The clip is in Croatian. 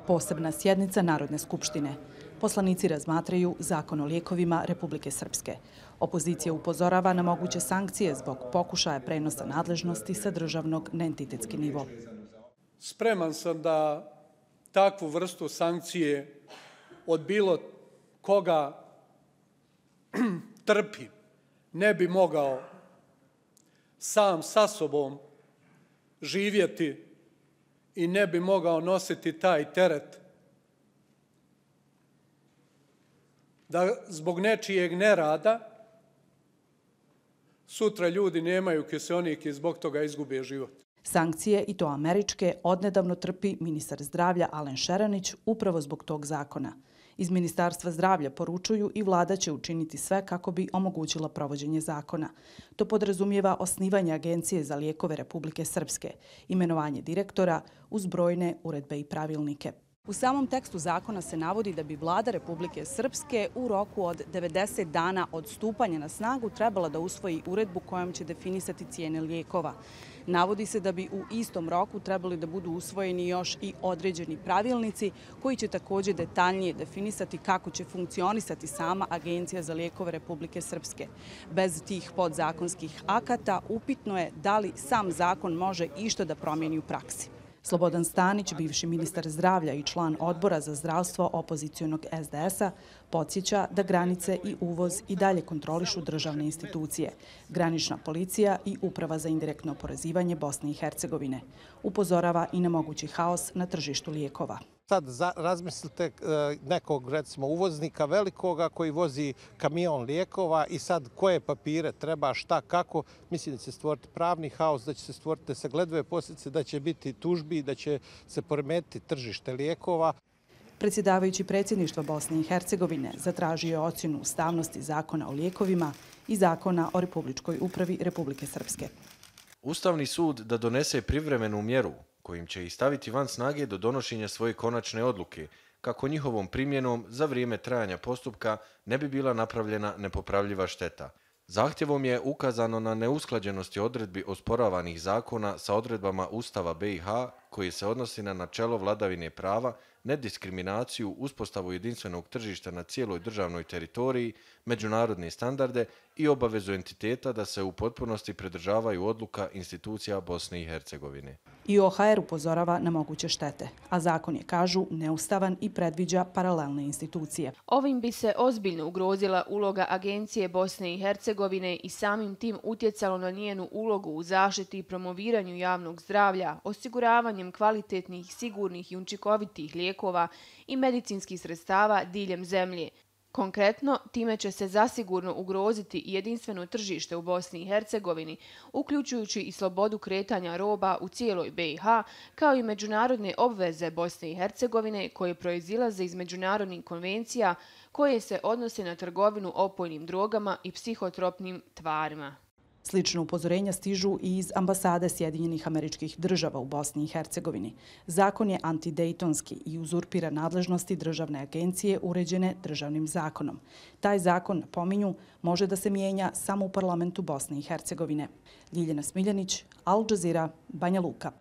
Posebna sjednica Narodne skupštine. Poslanici razmatraju Zakon o lijekovima Republike Srpske. Opozicija upozorava na moguće sankcije zbog pokušaja prenosa nadležnosti sa državnog na entitetski nivo. Spreman sam da takvu vrstu sankcije od bilo koga trpi. Ne bi mogao sam sa sobom živjeti i ne bi mogao nositi taj teret da zbog nečijeg nerada sutra ljudi nemaju kiseonik i zbog toga izgube život. Sankcije, i to američke, odnedavno trpi ministar zdravlja Alen Šeranić upravo zbog tog zakona. Iz Ministarstva zdravlja poručuju i vlada će učiniti sve kako bi omogućila provođenje zakona. To podrazumijeva osnivanje Agencije za lijekove Republike Srpske, imenovanje direktora uz brojne uredbe i pravilnike. U samom tekstu zakona se navodi da bi vlada Republike Srpske u roku od 90 dana od stupanja na snagu trebala da usvoji uredbu kojom će definisati cijene lijekova. Navodi se da bi u istom roku trebali da budu usvojeni još i određeni pravilnici koji će također detaljnije definisati kako će funkcionisati sama Agencija za lijekove Republike Srpske. Bez tih podzakonskih akata upitno je da li sam zakon može išta da promijeni u praksi. Slobodan Stanić, bivši ministar zdravlja i član odbora za zdravstvo opozicionog SDS-a, podsjeća da granice i uvoz i dalje kontrolišu državne institucije, granična policija i Uprava za indirektno oporezivanje Bosne i Hercegovine. Upozorava i na mogući haos na tržištu lijekova. Sad razmislite nekog, recimo, uvoznika velikoga koji vozi kamion lijekova i sad koje papire treba, šta, kako. Mislim da će se stvoriti pravni haos, da će se stvoriti nesagledive posljedice, da će biti tužbi, da će se poremetiti tržište lijekova. Predsjedavajući predsjedništva Bosne i Hercegovine zatražio je ocjenu ustavnosti Zakona o lijekovima i Zakona o Republičkoj upravi Republike Srpske. Ustavni sud da donese privremenu mjeru kojim će ih staviti van snage do donošenja svoje konačne odluke, kako njihovom primjenom za vrijeme trajanja postupka ne bi bila napravljena nepopravljiva šteta. Zahtjevom je ukazano na neusklađenosti odredbi osporavanih zakona sa odredbama Ustava BiH koji se odnosi na načelo vladavine prava, nediskriminaciju, uspostavu jedinstvenog tržišta na cijeloj državnoj teritoriji, međunarodne standarde i obavezu entiteta da se u potpunosti pridržavaju odluka institucija Bosne i Hercegovine. I OHR upozorava na moguće štete, a zakon je, kažu, neustavan i predviđa paralelne institucije. Ovim bi se ozbiljno ugrozila uloga Agencije Bosne i Hercegovine i samim tim utjecalo na njenu ulogu u zaštiti i promoviranju javnog zdravlja, osiguravanjem kvalitetnih, sigurnih i učinkovitih lijekova i medicinskih sredstava diljem zemlje. Konkretno, time će se zasigurno ugroziti i jedinstveno tržište u Bosni i Hercegovini, uključujući i slobodu kretanja roba u cijeloj BiH, kao i međunarodne obveze Bosne i Hercegovine koje proizilaze iz međunarodnih konvencija koje se odnose na trgovinu opojnim drogama i psihotropnim tvarima. Slično upozorenja stižu i iz ambasade Sjedinjenih Američkih Država u Bosni i Hercegovini. Zakon je antidejtonski i uzurpira nadležnosti državne agencije uređene državnim zakonom. Taj zakon, pominju, može da se mijenja samo u parlamentu Bosne i Hercegovine. Ljiljana Smiljanić, Al Jazeera, Banja Luka.